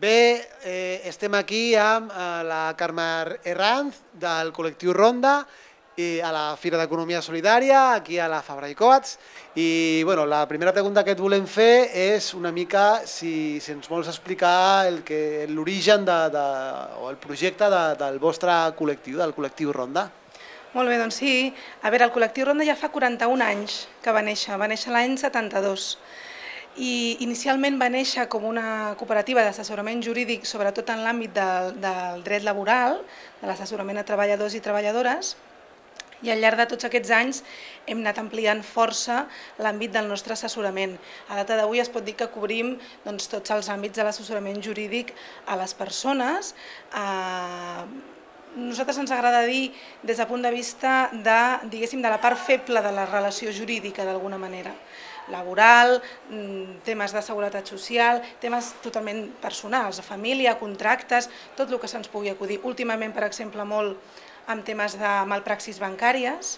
Bé, estem aquí amb la Carme Herranz del col·lectiu Ronda a la Fira d'Economia Solidària, aquí a la Fabra i Coats. I la primera pregunta que et volem fer és una mica si ens vols explicar l'origen o el projecte del vostre col·lectiu, del col·lectiu Ronda. Molt bé, doncs sí. A veure, el col·lectiu Ronda ja fa 41 anys que va néixer l'any 72. I inicialment va néixer com una cooperativa d'assessorament jurídic, sobretot en l'àmbit del dret laboral, de l'assessorament a treballadors i treballadores, i al llarg de tots aquests anys hem anat ampliant força l'àmbit del nostre assessorament. A data d'avui es pot dir que cobrim tots els àmbits de l'assessorament jurídic a les persones. Nosaltres ens agrada dir des del punt de vista de la part feble de la relació jurídica, d'alguna manera. Laboral, temes de seguretat social, temes totalment personals, de família, contractes, tot el que se'ns pugui acudir. Últimament, per exemple, molt amb temes de malpraxis bancàries.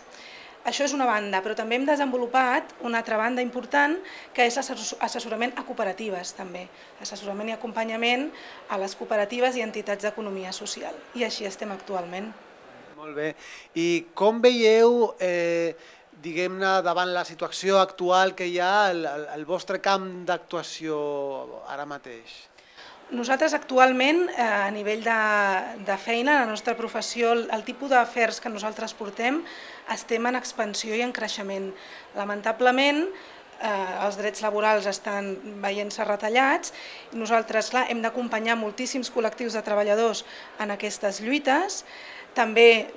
Això és una banda, però també hem desenvolupat una altra banda important, que és assessorament a cooperatives, també. Assessorament i acompanyament a les cooperatives i entitats d'economia social. I així estem actualment. Molt bé. I com veieu, diguem-ne, davant la situació actual que hi ha, el vostre camp d'actuació ara mateix? Nosaltres actualment, a nivell de feina, la nostra professió, el tipus d'afers que nosaltres portem, estem en expansió i en creixement. Lamentablement, els drets laborals estan veient-se retallats i nosaltres, clar, hem d'acompanyar moltíssims col·lectius de treballadors en aquestes lluites. També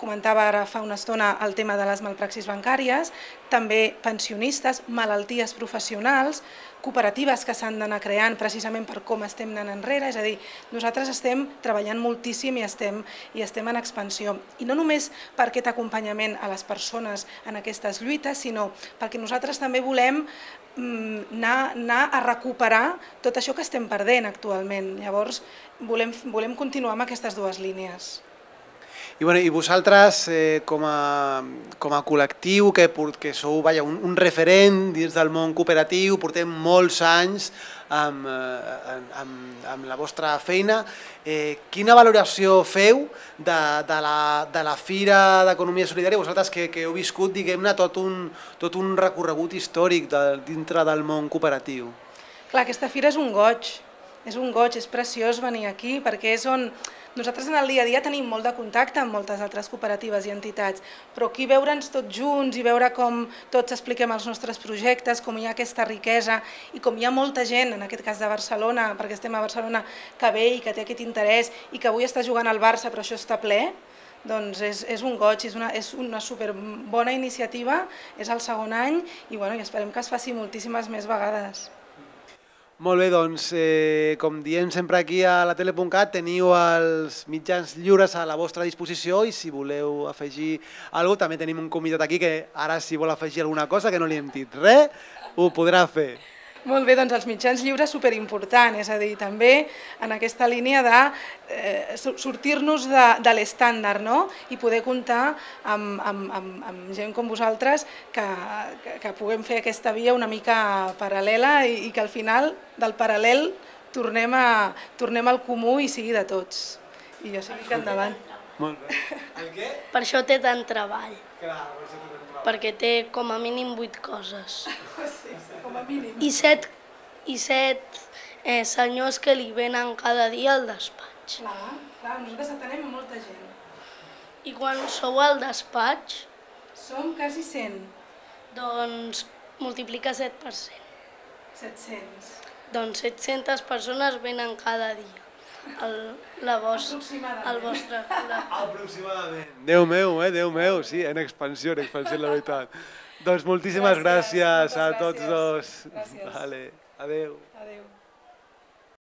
comentava ara fa una estona el tema de les malpraxis bancàries, també pensionistes, malalties professionals, cooperatives que s'han d'anar creant precisament per com estem anant enrere, és a dir, nosaltres estem treballant moltíssim i estem en expansió. I no només per aquest acompanyament a les persones en aquestes lluites, sinó perquè nosaltres també volem anar a recuperar tot això que estem perdent actualment. Llavors, volem continuar amb aquestes dues línies. I vosaltres, com a col·lectiu, que sou un referent dins del món cooperatiu, portem molts anys amb la vostra feina, quina valoració feu de la Fira d'Economia Solidària, vosaltres que heu viscut, diguem-ne, tot un recorregut històric dintre del món cooperatiu? Clar, aquesta fira és un goig, és preciós venir aquí, perquè és on nosaltres en el dia a dia tenim molt de contacte amb moltes altres cooperatives i entitats, però aquí veure'ns tots junts i veure com tots expliquem els nostres projectes, com hi ha aquesta riquesa i com hi ha molta gent, en aquest cas de Barcelona, perquè estem a Barcelona, que ve i que té aquest interès i que avui està jugant al Barça però això està ple, doncs és un goig, és una superbona iniciativa, és el segon any i esperem que es faci moltíssimes més vegades. Molt bé, doncs, com diem sempre aquí a la tele.cat, teniu els mitjans lliures a la vostra disposició i si voleu afegir alguna cosa, també tenim un convidat aquí que ara si vol afegir alguna cosa que no li hem dit res, ho podrà fer. Molt bé, doncs els mitjans lliures superimportant, és a dir, també en aquesta línia de sortir-nos de l'estàndard i poder comptar amb gent com vosaltres que puguem fer aquesta via una mica paral·lela i que al final del paral·lel tornem al comú i sigui de tots. I jo sigui que endavant. Molt bé. El què? Per això té tant treball. Clar, per això té tant treball. Perquè té com a mínim 8 coses. Sí, com a mínim. I 7 senyors que li venen cada dia al despatx. Clar, nosaltres atenem a molta gent. I quan sou al despatx? Som quasi 100. Doncs multiplica 7 per 100. 700. Doncs 700 persones venen cada dia al vostre col·lectiu. Aproximadament. Déu meu, sí, en expansió, la veritat. Doncs moltíssimes gràcies a tots dos. Gràcies. Adéu. Adéu.